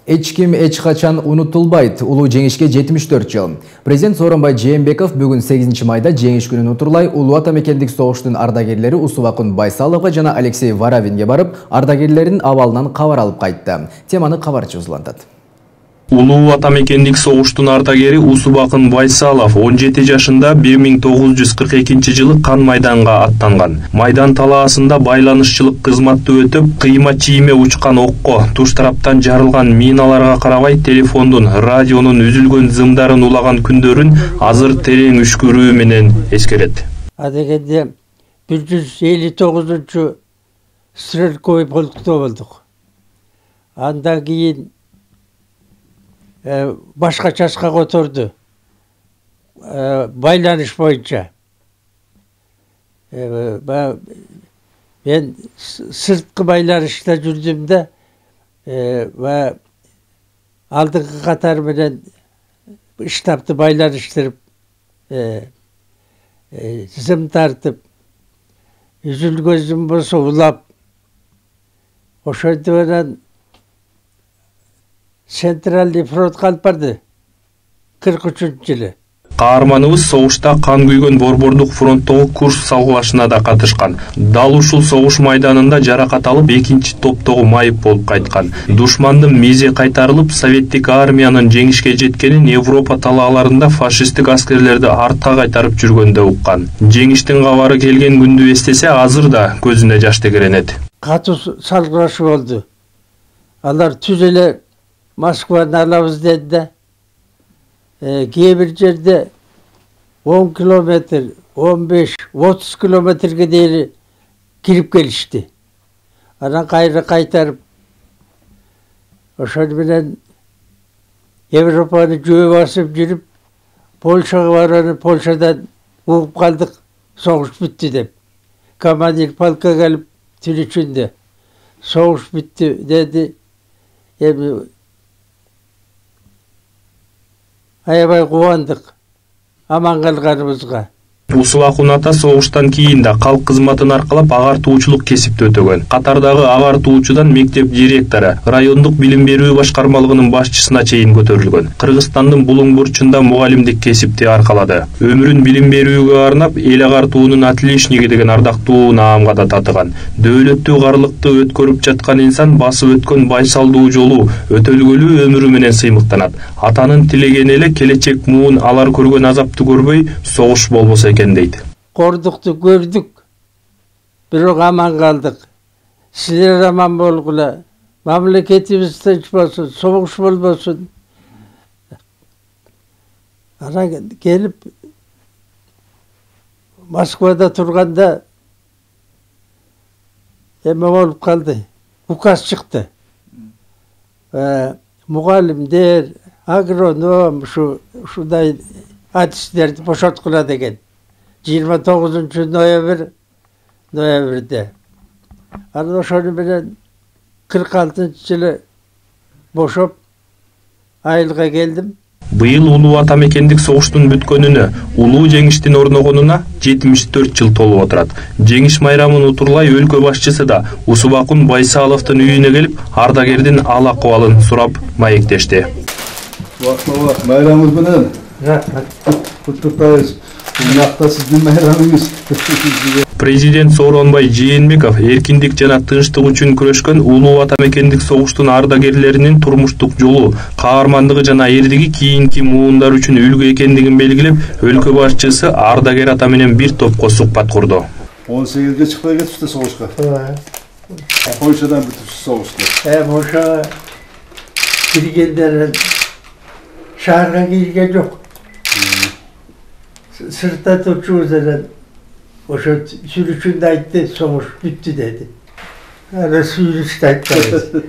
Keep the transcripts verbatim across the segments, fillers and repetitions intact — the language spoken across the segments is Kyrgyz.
Эч ким эч качан унутулбайт. Улуу жеңишке жетимиш төрт жыл. Президент Сооронбай Жээнбеков бүгүн сегизинчи майда жеңиш күнүн утурлай улуу ата мекендик согуштун ардагерлери Усубакун Байсаловго жана Алексей Варавинге барып, ардагерлердин абалынан кабар алып кайтты. Теманы кабарчы узулантат. Улуу ата мекендик согуштун ардагери Усубакун Байсалов он жети жашында бир миң тогуз жүз кырк экинчи жылы Кан майданга аттанган. Майдан талаасында байланышчылык кызматты өтүп, кыйма чийме учкан окко, туш тараптан жарылган миналарга карабай телефондун, радионун үзүлгөн зымдарын улаган күндөрүн азыр терең үшкүрүү менен эскерет. Адегенде бир жүз элүү тогузунчу стрелковый полкто болдук. Андан кийин башка чачка которду байланыш боюнча. Мен сырткы байланышта жүрдүм да, ва алдыңкы катар менен штабты байланыштырып, зым тартып, үзүлгөн зым болсо улап, ошентип анан Центральный фронтка алып барды кырк үчүнчү жылы. Каарманыбыз согушта кан күйгөн Борбордук фронттогу Курск салгылашына да катышкан. Дал ушул согуш майданында жаракат алып, экинчи топтогу майып болуп кайткан. Душмандын мизе кайтарылып, советтик армиянын жеңишке жеткенин Европа талааларында фашисттик аскерлерди артка кайтарып жүргөндө уккан. Жеңиштин кабары келген күндү эстесе, азыр да көзүнө жаш тегеренет. Катуу салгылашы болду. Алар түз эле Москваны алабыз деди да, кээ бир жерде он километр, он беш, отуз километрге дейин кирип келишти. Анан кайра кайтарып, ошол менен Европаны жөө басып жүрүп, Польшага барып, Польшадан угуп калдык, согуш бүттү деп. Командир полкка келип түнүчүндө согуш бүттү деди. Эми аябай кубандык аман калганыбызга. Усубакун ата согуштан кийин да калк кызматын аркалап агартуучулук кесипти өтөгөн. Катардагы агартуучудан мектеп директору, райондук билим берүү башкармалыгынын башчысына чейин көтөрүлгөн. Кыргызстандын Булуң бурчунда мугалимдик кесипти аркалады. Өмүрүн билим берүүгө арнап, эл агартуунун отличниги деген ардактуу наамга да татыган. Дөөлөттүү карлыкты өткөрүп жаткан инсан басып өткөн байсалдуу жолу, өтөлгөлүү өмүрү менен сыймыктанат. Атанын тилегени эле келечек муун алар көргөн азапты көрбөй, согуш болбосо экен дейт. Кордукту көрдүк, бирок аман калдык. Силер аман болгула, мамлекетибиз тынч болсун, согуш болбосун. Анан келип Москвада турганда эме болуп калды. Указ чыкты. Мугалимдер, агроном, ушу ушундай адистерди бошоткула деген. жыйырма тогузунчу ноябрь ноябрьде. Анан ошону менен кырк алтынчы жылы бошоп айылга келдим. Быйыл улуу ата мекендик согуштун бүткөнүнө, улуу жеңиштин орногонуна жетимиш төрт жыл толуп отурат. Жеңиш майрамын утурлай өлкө башчысы да Усубакун Байсаловдун үйүнө келип, ардагердин ал акыбалын сурап маектешти. Убак майрамыңыз менен. Куттуктайбыз. Президент Сооронбай Жээнбеков эркиндик жана тынчтык үчүн күрөшкөн улуу ата мекендик согуштун ардагерлеринин турмуштук жолу, каармандыгы жана эрдиги кийинки муундар үчүн үлгү экендигин белгилеп, өлкө башчысы ардагер ата менен бир топко сухбат курду. он сегизге чыкпай кетипсиз согушка. Польшадан бүтүпсүз согушта. Э, ошо киргендер шаарга кирген жок. Сыртта турчубуз эле ошо сүйлөшүндө айтты, согуш бүттү деди. Ара сүйлөштү айтты.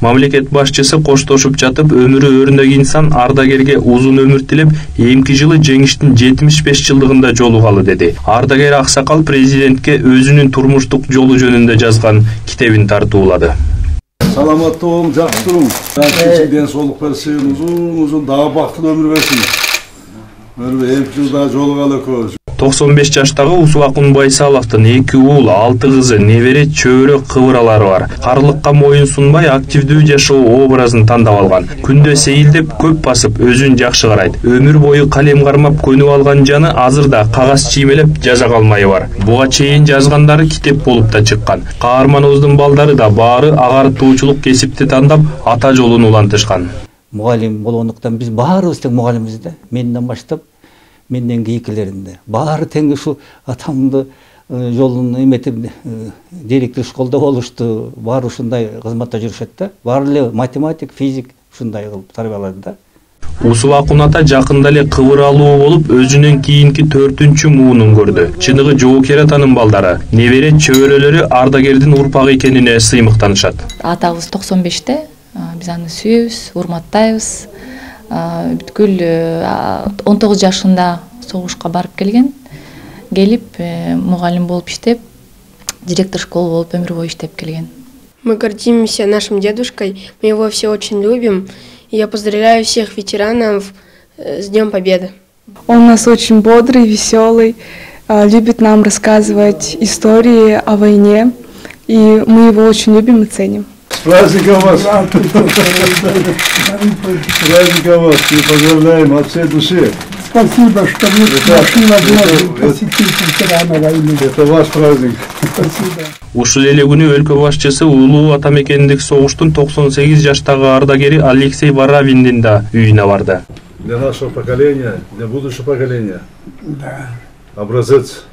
Мамлекет башчысы коштошуп жатып, өмүрү өрүндөгү инсан ардагерге узун өмүр тилеп, эмки жылы жеңиштин жетимиш беш жылдыгында жолугалы деди. Ардагер аксакал президентке өзүнүн турмуштук жолу жөнүндө жазган китебин тартуулады. Саламаттуу болуң, жакшы туруң. Сиңерге ден соолук берсин, узун-узун дагы бактылуу өмүр берсин. Эмки жылда жолугалы экөөбүз. токсон беш жаштагы Усубакун Байсаловдун эки уул, алты кызы, небере, чөбөрө, кыбыралары бар. Карлыкка моюн сунбай, активдүү жашоо образын тандап алган. Күндө сейилдеп, көп басып, өзүн жакшы карайт. Өмүр бою калем кармап көнүп алган жаны азыр да кагаз чиймелеп жаза калмайы бар. Буга чейин жазгандары китеп болуп да чыккан. Каарманыбыздын балдары да баары агартуучулук кесипти тандап, ата жолун улантышкан. Мугалим болгондуктан биз баарыбыз тең мугалимбиз да. Менден баштап, менден кийинкилеринде. Баары тең ушу атамды жолун эметип директор школда болушту. Баары ушундай кызматта жүрүшөт да. Баары эле математик, физик ушундай кылып тарбиялады да. Усубакун ата жакында эле кыбыралуу болуп, өзүнөн кийинки төртүнчү муунун көрдү. Чыныгы жоокер атанын балдары, небере, чөбөрөлөрү ардагердин урпагы экенине сыймыктанышат. Атабыз токсон беште, биз аны сүйөбүз, урматтайбыз. Бүткүл он тогуз жашында согушка барып келген. Келип, мугалим болуп иштеп, директор школы болуп өмүр бою иштеп келген. Мы гордимся нашим дедушкой, мы его все очень любим. И я поздравляю всех ветеранов с Днем Победы. Он у нас очень бодрый, веселый, любит нам рассказывать истории о войне, и мы его очень любим и ценим. С праздником вас! С праздником вас! И поздравляем от всей души! Спасибо, что вы нашли возможность посетить ветерана войны. Это ваш праздник. Спасибо. Ушул эле күнү өлкө башчысы улуу ата мекендик согуштун токсон сегиз жаштагы ардагери Алексей Варавиндин да үйүнө барды. Для нашего поколения, для будущего поколения. Да. Образец.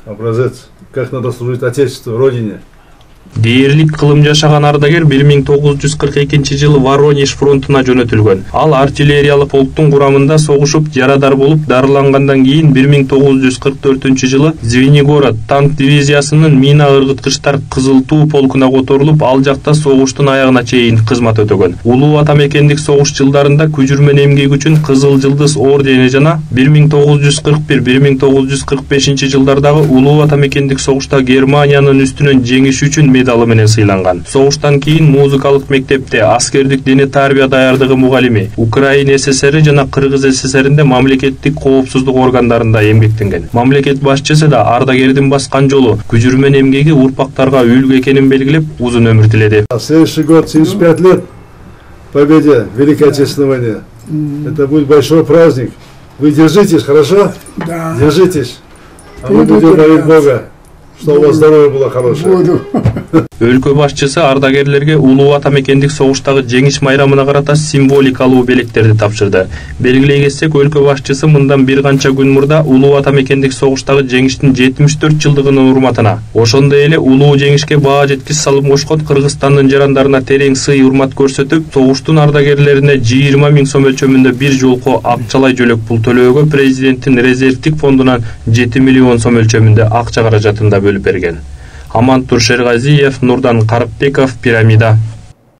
Образец. Как надо служить Отечеству, Родине. Дээрлик кылым жашаган ардагер бир миң тогуз жүз кырк экинчи жылы Воронеж фронтуна жөнөтүлгөн. Ал артиллериялык полктун курамында согушуп, жарадар болуп, дарылангандан кийин бир миң тогуз жүз кырк төртүнчү жылы Звенигород танк дивизиясынын мина ыргыткычтар Кызыл Туу полкуна которулуп, ал жакта согуштун аягына чейин кызмат өтөгөн. Улуу ата мекендик согуш жылдарында күжүрмөн эмгеги үчүн Кызыл Жылдыз ордени жана бир миң тогуз жүз кырк бир — бир миң тогуз жүз кырк бешинчи жылдардагы улуу ата мекендик согушта Германиянын үстүнөн жеңиши үчүн медалы менен сыйланган. Согуштан кийин музыкалык мектепте аскердик дене тарбия даярдыгы мугалими, Украина ССР жана Кыргыз ССРинде мамлекеттик коопсуздук органдарында эмгектенген. Мамлекет башчысы да ардагердин баскан жолу, күжүрмөн эмгеги урпактарга үлгү экенин белгилеп, узун өмүр тиледи. Следующий год семьдесят пять лет победе в Великой Отечественной войне. Это будет большой праздник. Вы держитесь, хорошо? Да. Держитесь. А мы будем молить Бога, чтобы у вас здоровье было хорошее. Буду. Өлкө башчысы ардагерлерге улуу ата мекендик согуштагы жеңиш майрамына карата символикалуу белектерди тапшырды. Белгилей кетсек, өлкө башчысы мындан бир канча күн мурда улуу ата мекендик согуштагы жеңиштин жетимиш төрт жылдыгынын урматына, ошондой эле улуу жеңишке баа жеткис салым кошкон Кыргызстандын жарандарына терең сый урмат көрсөтүп, согуштун ардагерлерине жыйырма миң сом өлчөмүндө бир жолку акчалай жөлөк пул төлөөгө президенттин резервдик фондунан жети миллион сом өлчөмүндө акча каражатын да бөлүп берген. Амантур Шергазиев, Нурдан Карыкбеков, Пирамида.